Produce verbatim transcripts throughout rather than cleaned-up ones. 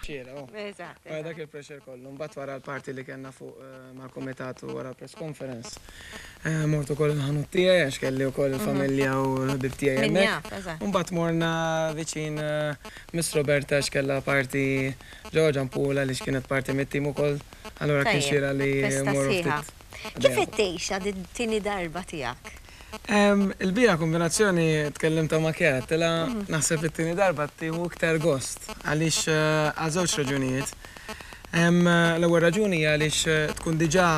Xiera, oh. Eżatt. Wara dak il-pressure kollu, mbagħad wara l-party li kellna fuq eh, mal-kumitat u wara l-press conference. Eh, Mort ukoll il-ħanut tiegħi għax kelli wkoll il-familja u l-ħbib tiegħi Min hemmhekk. jaf, eżatt. Mbagħad morna viċin eh, Miss Roberta għax kellha party ġewwa Ġampula li kienet parti mit-tim ukoll. Allura kien Tajjeb, xira li festa morru sħiħa. ftit. Kif qed tgħixha din tieni darba tiegħek? Em, Il-bija kombinazzjoni tkellimt ma' Kera, tela naħseb it-tieni darba tieħu iktar gost għaliex eh, għal żewġ raġunijiet. Em, L-ewwel raġuni hija għaliex eh, tkun diġà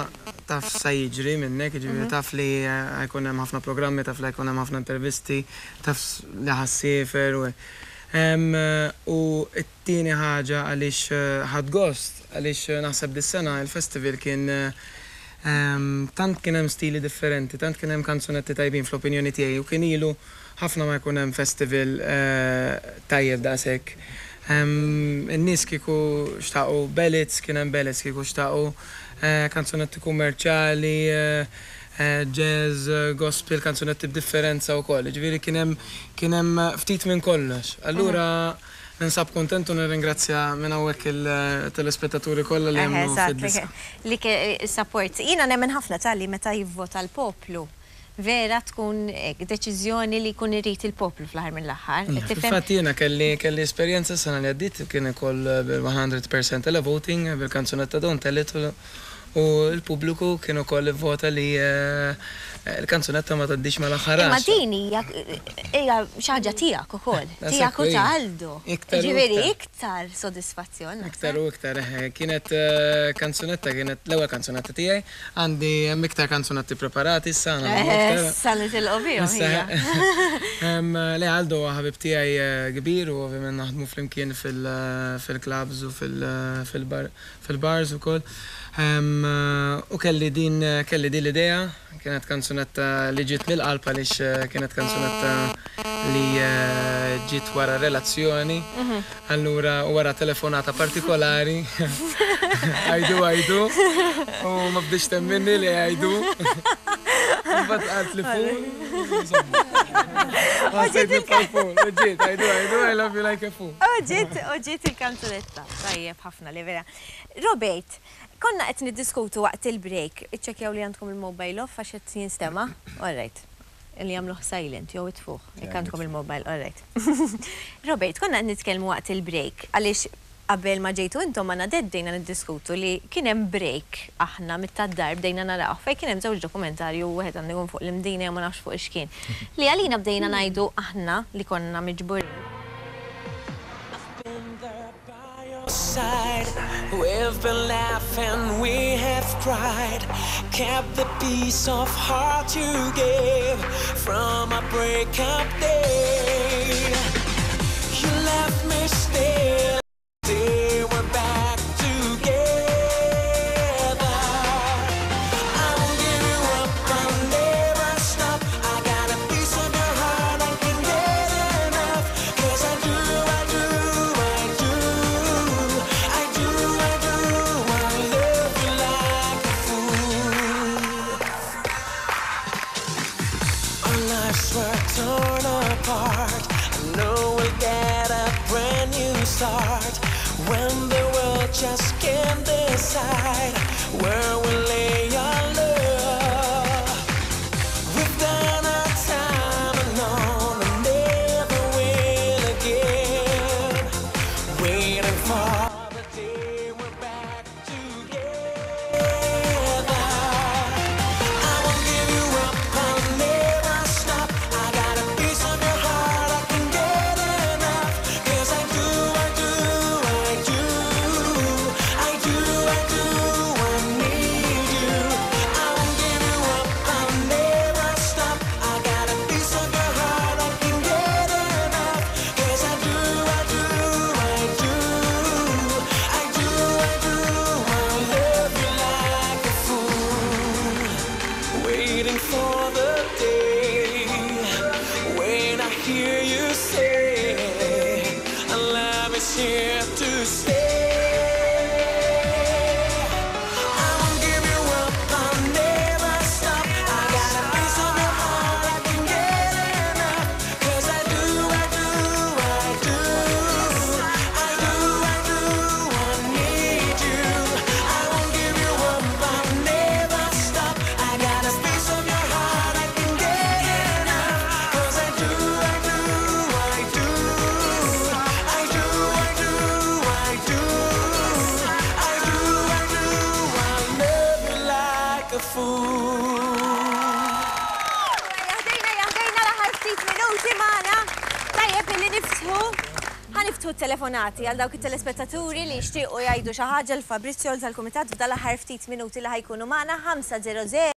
taf sa jiġri minnek, jiġifieri taf li eh, jkun hemm ħafna programmi, taf li jkun hemm ħafna intervisti, taf s- li ħa ssiefer u Em, U t-tieni ħaġa għaliex eh, ħadt gost, għaliex eh, naħseb dis-sena il-festival kien eh, Em, tant kien hemm stili differenti, tant kien hemm kanzunetti tajbin fl-opinjoni tiegħi u kien ilu ħafna ma jkun hemm festival eh, tajjeb daqshekk. Em, In-nies kieku xtaqu ballads, kien hemm ballads kieku xtaqu eh, kanzunetti kummerċjali, eh, eh, jazz, eh, gospel, kanzunetti b'differenza wkoll. Ġifieri kien hemm kien hemm ftit minn kollox. Allura ninsab kontent u nirringrazzja minn hawnhekk il-telespettaturi kollha li Eħe, jemmnu eżatt, fid-diska. Li ke- support. Jiena nemmen ħafna tal-li meta jivvota l-poplu. Vera tkun eh, deċiżjoni li jkun irid il-poplu fl-aħħar mill-aħħar. Tifhem? Fil-fatt jiena kelli kelli esperjenza sena li għaddit kien ukoll bil-mija fil-mija televoting bil-kanzunetta Don't Tell It u u l-pubbliku kien ukoll vota li eh, l-kanzunetta ma tgħaddix mal-aħħar Imma għaxra. din hija hija xi ħaġa tiegħek ukoll. Da Tiegħek u sekku, ta' Aldo. Iktar u Ġifieri iktar. iktar sodisfazzjon. Iktar u iktar, eħe. Kienet eh, kanzunetta, kienet l-ewwel kanzunetta tiegħi. Għandi hemm iktar kanzunetti preparati issa għandna iktar. Issa li tilqu bihom Issa, hija. em, Le Aldo huwa ħabib tiegħi eh, kbir u ovvjament naħdmu flimkien fil- fil-clubs u fil- fil-bar- fil-bars ukoll. Em, U kelli din kelli din l-idea, kienet kanzunetta li ġiet mill-qalb għaliex eh, kienet kanzunetta li eh, ġiet wara relazzjoni. Allura wara telefonata partikolari. I do, I do. U ma bdietx temminni li I do. Mbagħad qalt li fool. Ħassejt nibqa' fool. Ġiet, I do, I do, I love you like a fool. U ġiet, u ġiet il-kanzunetta. Tajjeb ħafna li vera. Robert, konna qed niddiskutu waqt il-break. Iċċekkjaw li għandkom il-mobile off għax qed jinstema'. All right. Li jagħmluh silent jew itfuh. Jekk għandkom il-mobile, all right. Robert, konna qed nitkellmu waqt il-break għaliex qabel ma ġejtu intom ma bdejna niddiskutu li kien hemm break aħna mit-tad-dar bdejna naraw fejn kien hemm żewġ dokumentarju wieħed għandu jkun fuq l-Imdina jew ma nafx fuq x'kien. Li għalina bdejna ngħidu aħna li konna miġburin. Been there by your side. We've been laughing, we have cried. Kept the peace of heart you gave from a breakup day. You left me still. Day we're back together. I won't give you up, I'll never stop. I got a piece of your heart, I can get enough. 'Cause I do, I do, I do. I do, I do, I love you like a fool. Our lives were torn apart. I know we'll get a brand new start when the world just can't decide where we lay our love. We've done our time alone and never will again. Waiting for the day we're back together. I won't give you up, I'll never stop. I got a piece of your heart, I can get enough. 'Cause I do, I do, I do. I do, I do, I need you. I won't give you up, I'll never stop. I got a piece of your heart, I can get enough. 'Cause I do, I do, I do. I do, I do, I love you like a fool. Waiting for the day when I hear you say, "Love is here to stay." I won't give you up, I'll never stop. I got a piece of your heart, I can get enough. 'Cause I do, I do, I do. I do, Ħa niftħu ħa niftħu telefonati għal dawk it-telespettaturi li jixtiequ jgħidu xi ħaġa lil Fabrizio, tal-kumitat, f'dal-aħħar ftit minuti li ħa jkunu magħna. ħamsa żero żero.